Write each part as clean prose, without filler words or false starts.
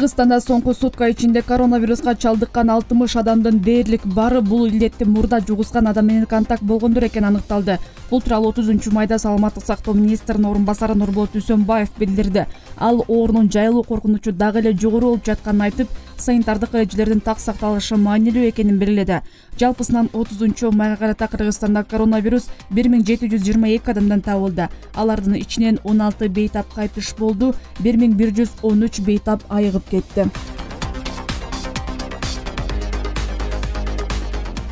Кыргызстанда соңку сутка ичинде коронавируска чалдыккан 60 адамдын дээрлик баары бул илдетти мурда жугузган адам менен контакт болгондор экени аныкталды. Бул тууралуу 30-майда саламаттык сактоо министринин орун басары Нурболот Үсөнбаев билдирди. Ал оорунун жайылуу коркунучу дагы эле жогору болуп жатканын айтып, санитардык эрежелердин так сакталышы маанилүү экенин белгиледи. Жалпысынан 30-майга карата Кыргызстанда коронавирус 1722 адамдан табылды. Алардын ичинен 16 бейтап кайтыш болду, 1113 бейтап айыгып кетти.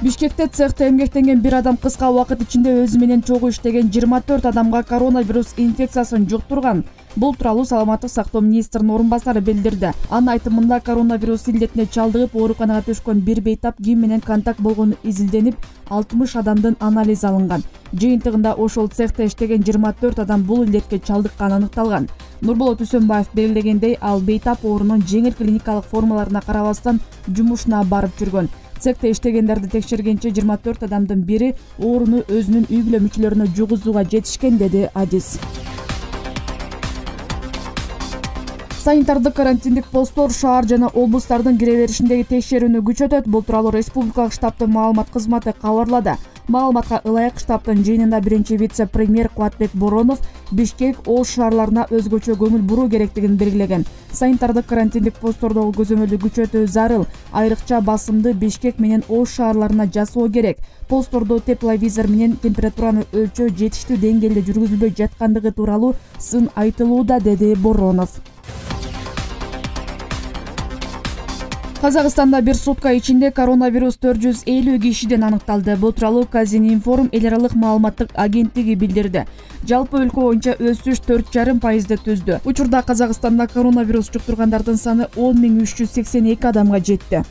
Бишкекте цехте эмгектенген бир адам кыска убакыт ичинде өзү менен чогуу иштеген 24 адамга коронавирус инфекциясын жуктурган. Бул тууралуу саламаттык сактоо министринин орун басары билдирди. Анын айтымында коронавирус илдетине чалдыгып ооруканага түшкөн бир бейтап ким менен контакт болгону изилденип, 60 адамдын анализи алынган. Жыйынтыгында ошол цехте иштеген 24 адам бул илдетке чалдыкканы аныкталган. Нурболот Үсөнбаев белгилегендей, ал бейтап оорунун жеңил клиникалык формаларына карабастан жумушуна барып жүргөн. Цехте иштегендерди текшергенче 24 адамдын бири ооруну өзүнүн үй бүлө мүчөлөрүнө жугузууга жетишкен, деди Адис. Санитардык карантиндик посттор шаар жана облустардын кире беришиндеги текшерүүнү күчөтөт. Бул тууралуу республикалык штабтын маалымат кызматы кабарлады. Маалыматка ылайык штабтын жыйынында биринчи вице-премьер Кубатбек Боронов Бишкек Ош шаарларына өзгөчө көңүл буруу керектигин белгилеген. Санитардык карантиндик посттордогу көзөмөлдү күчөтүү зарыл. Айрыкча басымды Бишкек менен Ош шаарларына жасоо керек. Посттордо тепловизор менен температураны өлчөө жетиштүү деңгээлде жүргүзүлбөй жаткандыгы тууралуу сын айтылууда, деди Боронов. Казакстанда бир сутка ичинде коронавирус 450 кишиден аныкталды. Бул тууралуу Казининформ эл аралык маалыматтык агенттиги билдирди. Жалпы өлкө боюнча өсүш 4,5% түздү. Учурда Казакстанда коронавирус жуктургандардын саны 10.382 адамга жетти.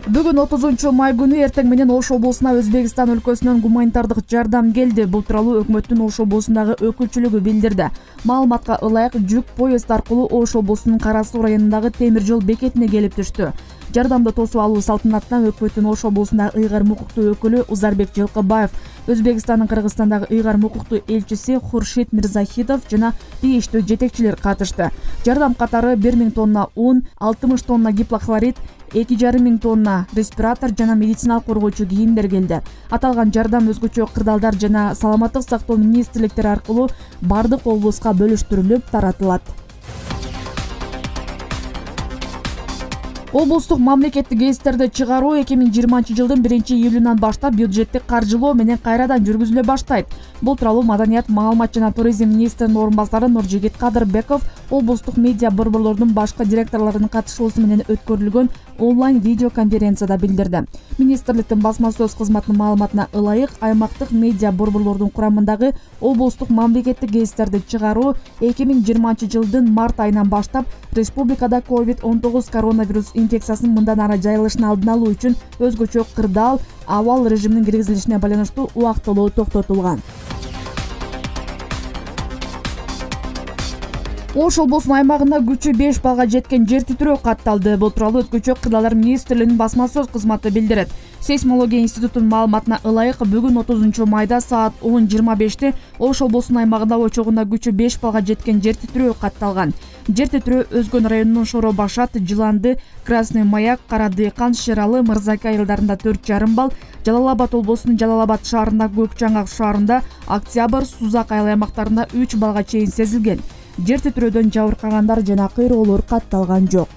Бүгүн 30-май күнү эртең менен Ош облусуна Өзбекстан өлкөсүнөн гуманитардык жардам келди. Бул тууралуу өкмөттүн Ош облусундагы өкүлчүлүгү билдирди. Маалыматка ылайык, жүк поезд аркылуу Ош облусунун Кара Суу районундагы темир жол бекетине келип түштү. Жардамды тосуп алуу салтанатына өкмөттүн Ош облусундагы ыйгарым укуктуу өкүлү Узарбек Жылкыбаев, Өзбекстандын Кыргызстандагы ыйгарым укуктуу элчиси Хуршид Мирзахидов жана тийиштүү жетекчилер катышты. Жардам катары 1000 тонна un, 60 тонна гипохлорид, 2500 тонна респиратор жана медициналык коргоочу кийимдер келди. Аталган жардам өзгөчө кырдаалдар жана саламаттык сактоо министрликтери аркылуу бардык облуска бөлүштүрүлүп таратылат. Облустук мамлекеттик гезиттерди чыгаруу 2020-жылдын 1-июлунан баштап бюджеттик каржылоо менен кайрадан жүргүзүлө баштайт. Бул тууралуу Маданият, маалымат жана туризм министринин орун басары Нуржигит Кадырбеков облустук медиа борборлордун башкы директорлорунун катышуусу менен өткөрүлгөн онлайн видео конференцияда билдирди. Министрликтин басма сөз кызматынын маалыматына ылайык, аймактык медиа борборлордун курамындагы облустук мамлекеттик гезиттерди чыгаруу 2020-жылдын март айынан баштап республикада COVID-19 коронавирус инфекциясынын мындан ары жайылышын алдын алуу үчүн өзгөчө кырдаал абал режиминин киргизилишине байланыштуу убактылуу токтотулган. Ош облусунун аймагында күчү 5 балга жеткен жер титирөө катталды. Бул тууралуу өзгөчө кырдаалдар министрлигинин басма сөз кызматы билдирет. Сейсмология институтунун маалыматына ылайык, бүгүн 30-майда саат 10:25 Ош облусунун аймагында очогунда күчү 5 балга жеткен жер титирөө катталган. Жер титирөө Өзгөн районунун Шоро Башат, Жыланды, Красный Маяк, Кара Дыйкан, Шералы, Мырзаке айылдарында 4,5 балл, Жалал Абад облусунун Жалал Абад шаарында, Көк Чаңак шаарында, Октябрь, Сузак айыл аймактарында 3 балга чейин сезилген. Жер титирөөдөн жабыркагандар жана кыйроолор катталган жок.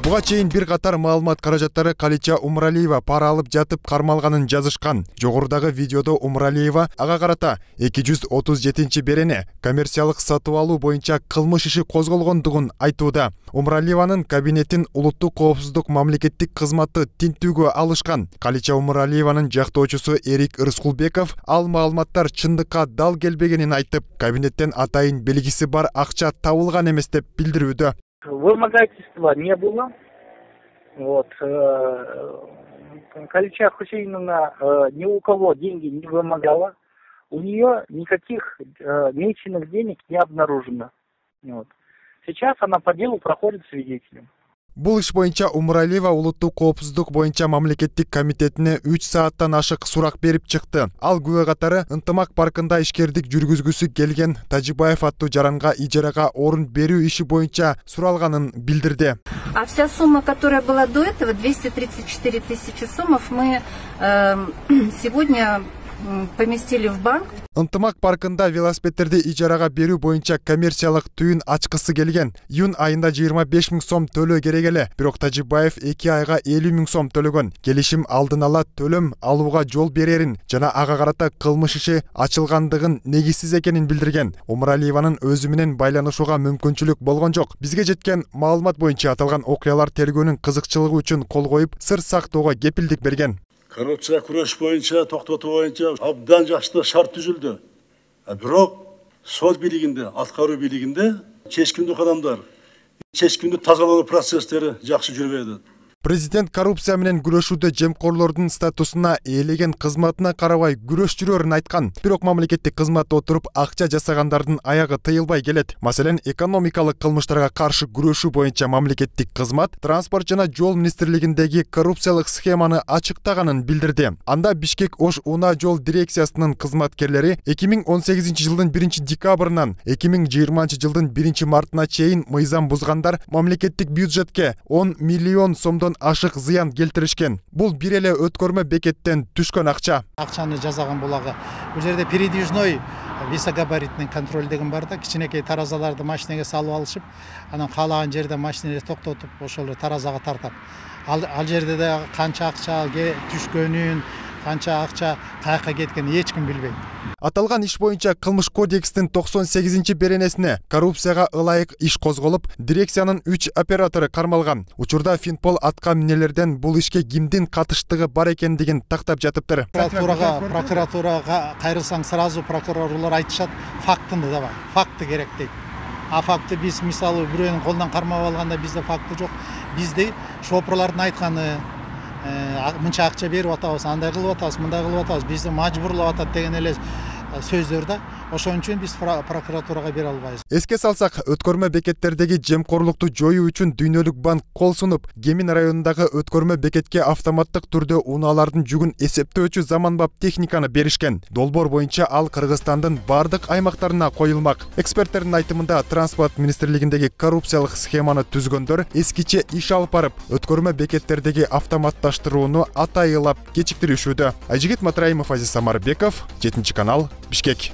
Буга чейин бир катар маалымат каражаттары Калича Умралиева пара алып жатып кармалганын жазышкан. Жогорудагы видеодо Умралиева ага карата 237-берене коммерциялык сатып алуу боюнча кылмыш иши козголгондугун айтууда. Умралиеванын кабинетин улуттук коопсуздук мамлекеттик кызматы тинтүүгө алышкан. Калича Умралиеванын жактоочусу Эрик Рыскулбеков ал маалыматтар чындыкка дал келбегенин айтып, кабинеттен атайын белгиси бар акча табылган эмес деп билдирүүдө. Вымогательства не было. Калича Хусейновна ни у кого деньги не вымогала. У нее никаких меченых денег не обнаружено. Сейчас она по делу проходит свидетелем. Бул иш боюнча Умуралиева улуттук коопсуздук боюнча мамлекеттик комитетине 3 сааттан ашык сурак берип чыкты. Ал күбө катары Ынтымак паркында ишкердик жүргүзгүсү келген Тажибаев аттуу жаранга ижарага орун берүү иши боюнча суралганын билдирди. А вся сумма, которая была до этого, 234 тысячи сомов, мы сегодня поместили в банк. Ынтымак паркында велосипедтерди ижарага берүү боюнча коммерциялык түйүн ачкысы келген. Июнь айында 25 000 сом төлөө керек эле. Бирок Тажибаев 2 айга 50 000 сом төлөгөн. Келишим алдын ала төлөм алууга жол берерин жана ага карата кылмыш иши ачылгандыгын негизсиз экенин билдирген. Умуралиеванын өзү менен байланышууга мүмкүнчүлүк болгон жок. Бизге жеткен маалымат боюнча аталган окуялар тергөөнүн кызыкчылыгы үчүн кол коюп, сыр сактоого кепилдик берген. Коррупция күрөш боюнча, токтотуу боюнча абдан жакшы шарт түзүлдү. Бирок сот бийлигинде, аткаруу бийлигинде чечкиндүү кадамдар, чечкиндүү тазалоо процесстери жакшы жүрбөйт. Президент коррупция менен күрөшүүдө жемкорлордун статусуна ээлеген кызматына карабай күрөш жүрөрүн айткан. Бирок мамлекеттик кызматта отуруп акча жасагандардын аягы тыйылбай келет. Маселен, экономикалык кылмыштарга каршы күрөшүү боюнча мамлекеттик кызмат транспорт жана жол министрлигиндеги коррупциялык схеманы ачыктаганын билдирди. Анда Бишкек Ош Унаа жол дирекциясынын кызматкерлери 2018 жылдын 1 декабрынан 2020 жылдын 1 мартына чейин мыйзам бузгандар мамлекеттик бюджетке 10 миллион сомдон ашык зыян келтиришкен. Бул бир эле өткөрмө бекеттен түшкөн акча. Акчаны жазаган булагы. Бул жерде передвижной висогабаритный контроль деген бар да, кичинекей таразаларды машинеге салып алышып, анан каалаган жерде машинени токтотуп, ошол таразага тартат. Ал жерде да канча акча түшкөнүн, канча акча каяка кеткенин эч ким билбейт. Аталган иш боюнча кылмыш кодекстин 98 беренесине коррупцияга ылайык иш козголуп, дирекциянын 3 оператору кармалган. Учурда Финпол атка минелерден бул ишке кимдин катыштыгы бар экендигин тактап жатыптыр. Прокуратурага кайрылсаң сразу прокурорлор айтышат, фактыны давай, факты керек дейт. А факты биз мисалы бирөөнүн колунан кармап алганда бизде факты жок. Бизде шопурлардын айтканы мынча акча берип атабыз, андай кылып атабыз, мындай кылып атабыз, бизди мажбурлап атат деген эле сөздөр да. Ошон үчүн биз прокуратурага бере албайбыз. Эске салсак, өткөрмө бекеттердеги жемкорлукту жоюу үчүн Дүйнөлүк банк кол сунуп, Кемин районундагы өткөрмө бекетке автоматтык түрдө унаалардын жүгүн эсептөөчү заманбап техниканы беришкен. Долбоор боюнча ал Кыргызстандын бардык аймактарына коюлмак. Эксперттердин айтымында транспорт министрлигиндеги коррупциялык схеманы түзгөндөр эскиче иш алып барып, өткөрмө бекеттердеги автоматташтырууну атайылап кечиктиришүүдө. Айжигит Матраимов, Азиз Самарбеков, 7 канал, Бишкек.